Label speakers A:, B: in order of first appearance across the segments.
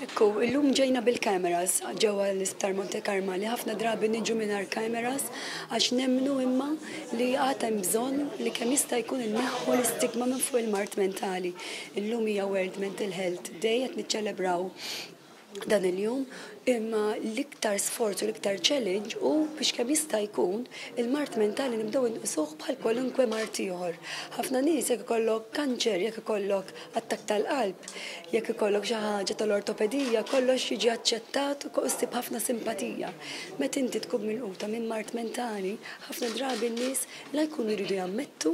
A: Ekku, illum ġejna bil-cameras ġewwa l-Isptar Monte Karmali. Ħafna drabi niġu mingħajr cameras għax nemmnu imma li għad hemm bżonn li kemm jista' jkun inneħħu l-istigma minn fuq il-mard mentali. Illum hija World Mental Health Day, qed niċċelebraw dan il-jum, imma l-iktar sforz u l-iktar challenge hu biex kemm jista' jkun il-mard mentali nibdew inqisuh bħal kwalunkwe mard ieħor. Ħafna nies jekk ikollok kanċer, jekk ikollok attakk tal-qalb, jekk ikollok xi ħaġa tal-ortopedija, kollox jiġi aċċettat u ssib ħafna simpatija. Meta inti tkun milquta minn mard mentali, ħafna drabi n-nies la jkunu jridu jammettu,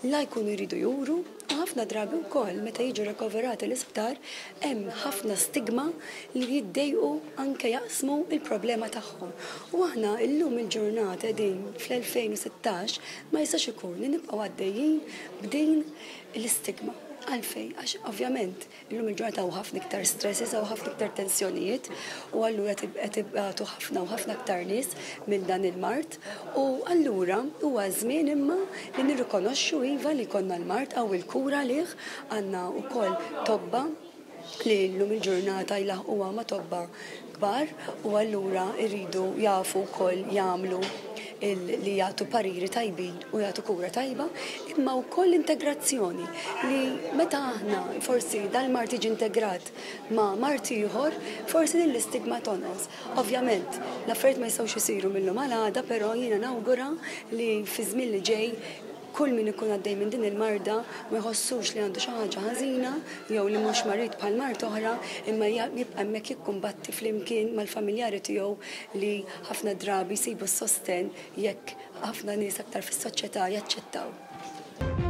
A: la jkunu jridu juru, u ħafna drabi wkoll meta jiġu rikoverati l-isptar hemm ħafna stigma li jiddejqu anke jaqsmu l-problema tagħhom. U aħna llum il-ġurnata qegħdin fl-2016, ma jistax ikun li nibqgħu għaddejjin b'din l-istigma. Għalfejn? Għax ovvjament Illum il-ġurnata hawn ħafna iktar stresses, hawn ħafna iktar tensjonijiet u allura qed ibatu ħafna u ħafna aktar nies minn dan il-mard u allura huwa żmien imma li nirrikonoxxu iva li jkollna l-mard, hawn il-kura għalih, għandna wkoll tobba li llum il-ġurnata jlaħħquha ma' tobba kbar u allura jridu jafu wkoll jagħmlu li jagħtu pariri tajbin u jagħtu kura tajba, imma wkoll integrazzjoni li meta aħna forsi dal-mard jiġi integrat ma' mard ieħor, forsi din l-istigma tonqos. Ovvjament, l-affarijiet ma jistgħux isiru mil-lum għal għada, però jiena nawgura li fiż-żmien li ġej Kull min ikun għaddej minn din il-marda ma jħossux li għandu xi ħaġa ħażina jew li mhux marid bħal mard oħra imma jibqa' hemmhekk jikkumbatti flimkien mal-familjari tiegħu li ħafna drabi jsibu s-sostenn jekk ħafna nies aktar fis-soċjetà jaċċettaw.